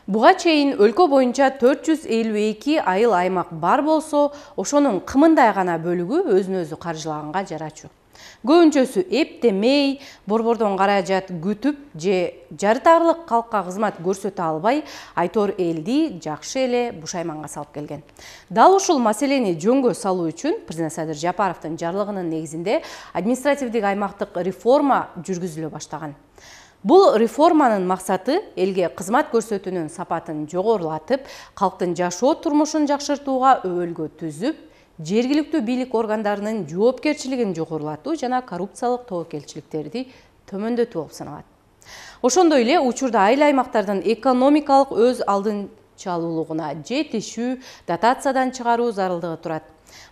Буга чейин өлкө боюнча 452 айыл аймак бар болсо, ошонун кымындай гана бөлүгү өзүн өзү каржылаганга жарачу. Көбүнчөсү эптемей, борбордон каражат күтүп же жарытарлык калкка кызмат көрсөтө албай, айтор элди жакшы эле бушайманга салып келген. Дал ушул маселени жөнгө салуу үчүн президент Садыр Жапаровдун жарлыгынын негизинде административдик аймактык реформа жүргүзүлө баштаган. Бул реформанын максаты элге кызмат көрсөтүүнүн сапатын жогорулатып, калктын жашоо турмушун жакшыртууга өбөлгө түзүп, жергиликтүү бийлик органдарынын жоопкерчилигин жогорулатуу жана коррупциялык тобокелчиликтерди төмөндөтүү болуп саналат. Ошондой эле учурда айыл аймактардын экономикалык өз алдынчалуулугуна жетишүү, дотациядан чыгаруу зарылдыгы турат.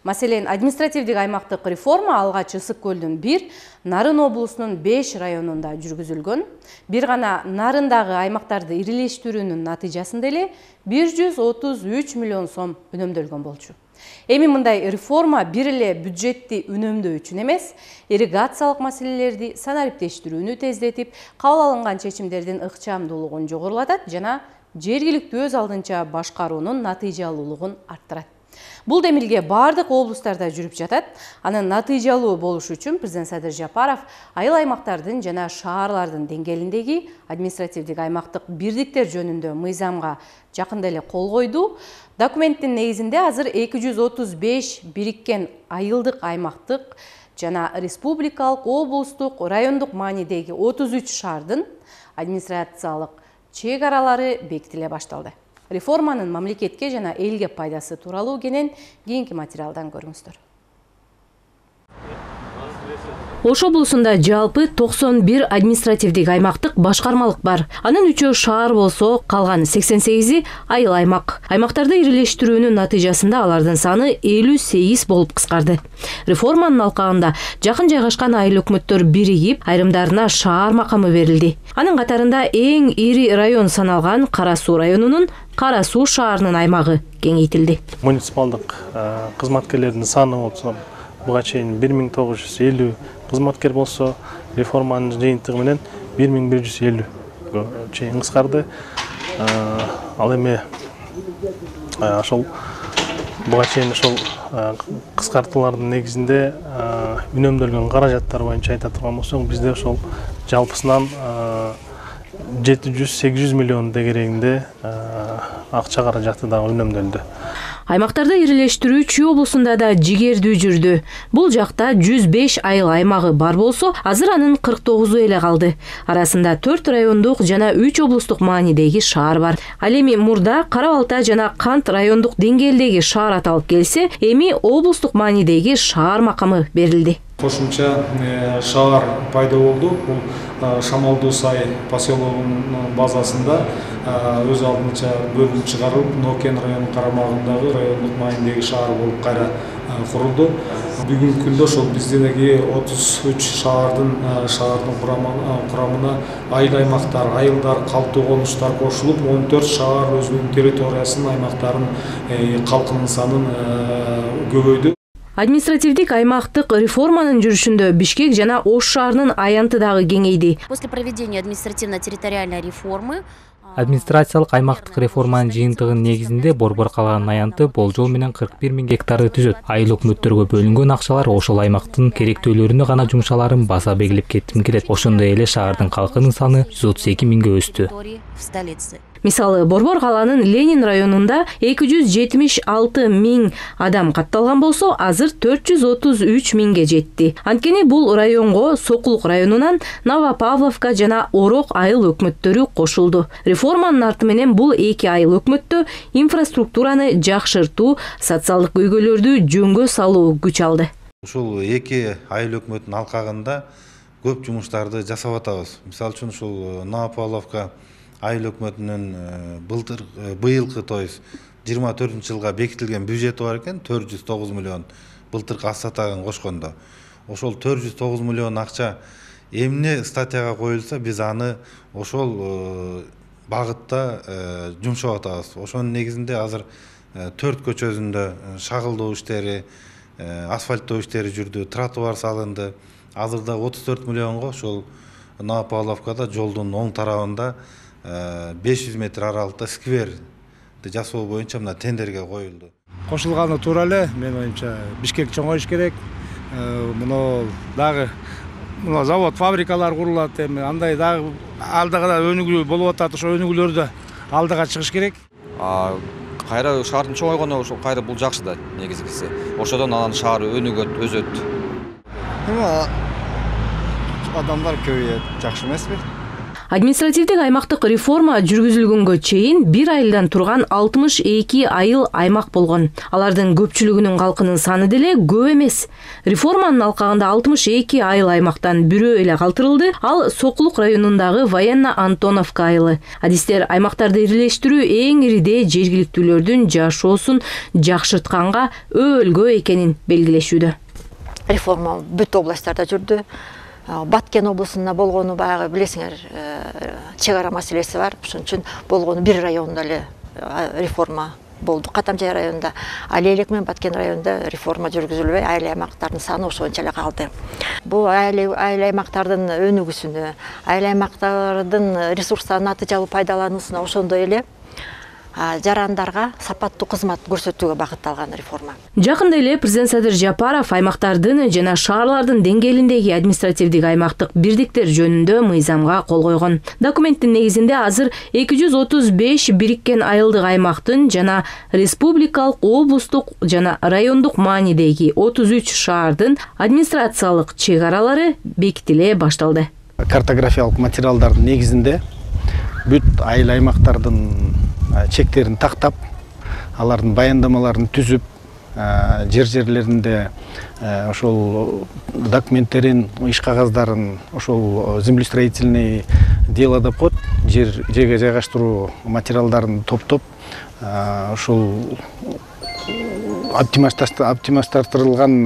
Маселен, административдик аймактык реформа алгач Ысык көлдүн 1, Нарын облусунун 5 районунда жүргүзүлгөн. Бир гана Нарындагы аймактарды ирилештирүүнүн натыйжасында эле 133 миллион сом үнөмдөлгөн болчу. Эми мындай реформа бир эле бюджетти үнөмдөө үчүн эмес, ирригациялык маселелерди санариптештирүүнү тездетип, кабыл алынган чечимдердин ыкчамдуулугун жогорулатат жана жергиликтүү өз алдынча башкаруунун натыйжалуулугун арттырат. Бул демилге бардык облустарда жүрүп жатат. Анын натыйжалуу болушу үчүн президент Садыр Жапаров айыл аймактардын жана шаарлардын деңгээлиндеги административдик аймактык бирдиктер жөнүндө мыйзамга жакында эле кол койду. Документтин негизинде азыр 235 бириккен айылдык аймактык жана республикалык, облустук, райондук маанидеги 33 шаардын администрациялык чек аралары бекитиле башталды. Реформанын мамлекетке жана элге пайдасы тууралуу кенен кийинки материалдан көрүңүздөр. Ош облусунда жалпы 91 административдик аймактык башкармалык бар. Анын 3-өө шаар болсо, калган 88-и айыл аймак. Аймактарды ирилештирүүнүн натыйжасында алардын саны 58 болуп кыскарды. Реформанын алкагында жакын жайгашкан айыл өкмөттөр биригип, айрымдарына шаар макамы берилди. Анын катарында эң ири район саналган Кара Суу районунун Кара Суу шаарынын аймагы кеңейтилди. Муниципалдык кызматкерлердин саны болсо, буга чейин 1950 кызматкер болсо, реформанын жыйынтыгы менен 1150 чейин кыскарды. Ал эми ошол буга чейин ошол кыскартуулардын негизинде үнөмдөлгөн каражаттар боюнча айта турган болсок, бизде ошол жалпысынан 700-800 миллион дегерегинде акча каражаты дагы үнөмдөлдү. Аймактарды ирилештирүү Чүй облусунда да жигердүү жүрдү. Бул жакта 105 айыл аймагы бар болсо, азыр анын 49-у эле калды. Арасында 4 райондук жана 3 облустук маанидеги шаар бар. Ал эми мурда Кара Балта жана Кант райондук деңгээлдеги шаар аталып келсе, эми облустук маанидеги шаар макамы берилди. Кошумча шаар пайда болду. Бул Шамалдуу Сай поселогунун базасында өз алдынча бөлүнүп чыгарылып, Нокен районунун карамагындагы райондук маанидеги шаар болуп кайра курулду. Бүгүнкү күндө ошол биздеги 33 шаардын курамына айыл аймактар, айылдар, калктуу конуштар кошулуп, 14 шаар өзүнүн территориясын, аймактарын, калкынын санын көбөйдү. Административдик аймактык реформанын жүрүшүндө Бишкек жана Ош шаарынын аянты дагы кеңейди. После проведения административно-территориальной реформы администрациялык аймактык реформанын жыйынтыгынын негизинде борбор калган аянты болжол менен 41 000 гектарды түзөт. Айыл өкмөттөргө бөлүнгөн акчалар ошол аймактын керектөөлөрүнө гана жумшаларын баса белгилеп кетким келет. Ошондой эле шаардын калкынын саны 132 000ге өстү. Мисалы, Борбор калаанын Ленин районунда 276 000 адам катталган болсо, азыр 433 000ге жетти. Анткени бул районго Сокулук районунан Новопавловка жана Орок айыл өкмөттөрү кошулду. Реформанын арты менен бул эки айыл өкмөттө инфраструктураны жакшыртуу, социалдык көйгөйлөрдү жөнгө салуу күч алды. Ушул эки айыл өкмөттүн алкагында көп жумуштарды жасап атабыз. Мисалы үчүн ушул Новопавловка айыл өкмөтүнүн быйылкы 24-жылга бекитилген бюджети бар экен, 409 миллион былтыркы ассатагын кошкондо. Ошол 409 миллион акча эмне статьяга коюлса, биз аны ошол багытта жумшап атабыз. Ошонун негизинде азыр 4 көчөсүндө шагылдоо иштери, асфальттоо иштери жүрдү, тротуар салынды. Азырда 34 миллионго ошол Новопавловкада жолдун оң тарабында 500 метр аралыкта скверди жасоо боюнча мына тендерге коюлду. Кошулганы туура эле, менин оюмча Бишкек чоңоюш керек. Муну дагы завод, фабрикалар курулат, эми андай дагы алдыга да өнүгүү болуп атат, ошо өнүгүүлөрдү алдыга чыгыш керек. Кайра шаардын чоңойгону ошо кайра бул жакшы да негизгиси. Ошодон анан шаар өнүгөт, өзөт. Адамдар көбөйөт, жакшы эмеспи? Административдик аймактык реформа жүргүзүлгөнгө чейин 1 айылдан турган 62 айыл аймак болгон. Алардын көпчүлүгүнүн калкынын саны деле көп эмес. Реформанын алкагында 62 айыл аймактан бирөө эле калтырылды. Ал Сокулук районундагы Военно-Антоновка айылы. Адистер аймактарды ирилештирүү эң ириде жергиликтүүлөрдүн жашоосун жакшыртканга өөлгөө экенин белгилешүүдө. Реформа бүт областтарда жүрдү. Баткен облусунда болгону баягы билесиңер, чек ара маселеси бар. Ошон үчүн болгону бир районда эле реформа болду. Катамжай районунда, ал элек менен Баткен районунда реформа жүргүзүлбөй, айыл аймактардын саны ошончо эле калды. Бул айыл аймактардын өнүгүүсүнө, айыл аймактардын ресурстарын натыйжалуу пайдалануусуна ошондой эле жарандарга сапаттуу кызмат көрсөтүүгө багытталган реформа. Жакында эле президент Садыр Жапаров аймактардын жана шаарлардын деңгээлиндеги административдик аймактык бирдиктер жөнүндө мыйзамга кол койгон. Документтин негизинде азыр 235 бириккен айылдык аймактын жана республикалык, облустук жана райондук маанидеги 33 шаардын администрациялык чек аралары бекитиле башталды. Картографиялык материалдардын негизинде бүт айыл аймактардын чектерин тактап, алардын баяндамаларын түзүп, жерлеринде ошол документтерин, иш кагаздарын, ошол землеустроительный дело деп коет, жерге жайгаштыруу материалдарын топтоп, ошол оптимизаштырылган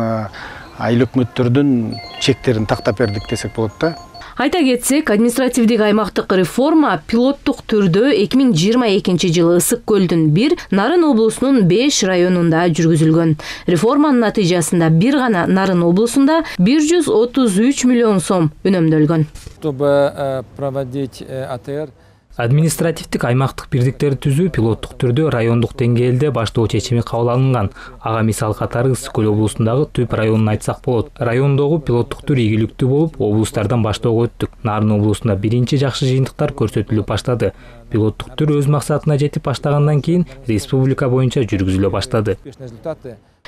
айыл өкмөттөрдүн чектерин тактап бердик десек болот да. Айта кетсек, административдик аймактык реформа пилоттук түрдө 2022 жылы Ысык көлдүн 1, Нарын облусунун 5 районунда жүргүзүлгөн. Реформанын натыйжасында бир гана Нарын облусунда 133 миллион сом үнөмдөлгөн. Чтобы проводить АТР, Административдик аймактык бирдиктерди түзүү пилоттук түрдө райондук деңгээлде баштоо чечими кабыл алынган. Ага мисал катары Ысык көл облусундагы Түп районун айтсак болот. Райондогу пилоттук түр ийгиликтүү болуп, облустардан баштоого өттүк. Нарын облусунда биринчи жакшы жыйынтыктар көрсөтүлүп баштады. Пилоттук түр өз максатына жетип баштагандан кийин республика боюнча жүргүзүлө баштады.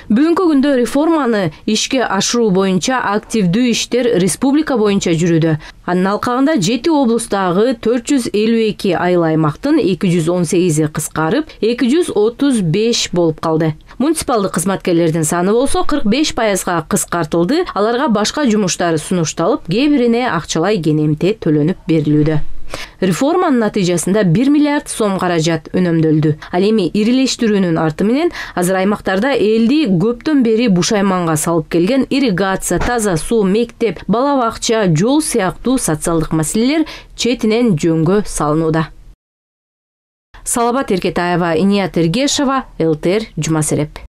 Бүгүнкү күндө реформаны ишке ашыруу боюнча активдүү иштер республика боюнча жүрүүдө. Анын алкагында 7 облустагы 452 айыл аймактын 218 кыскарып, 235 болуп калды. Муниципалдык кызматкерлердин саны болсо 45%га кыскартылды. Аларга башка жумуштар сунушталып, кээ бирине акчалай кенемте төлөнүп берилүүдө. Реформанын натыйжасында 1 миллиард сом каражат үнөмдөлдү. Ал эми ирилештирүүнүн арты менен азыр аймактарда элди көптөн бери бушайманга салып келген ирригация, таза суу, мектеп, бала бакча, жол сыяктуу социалдык маселелер четинен жөнгө салынууда. Салабат Эркетаева, Иният Эргешова, ЛТР, Жума Сереп.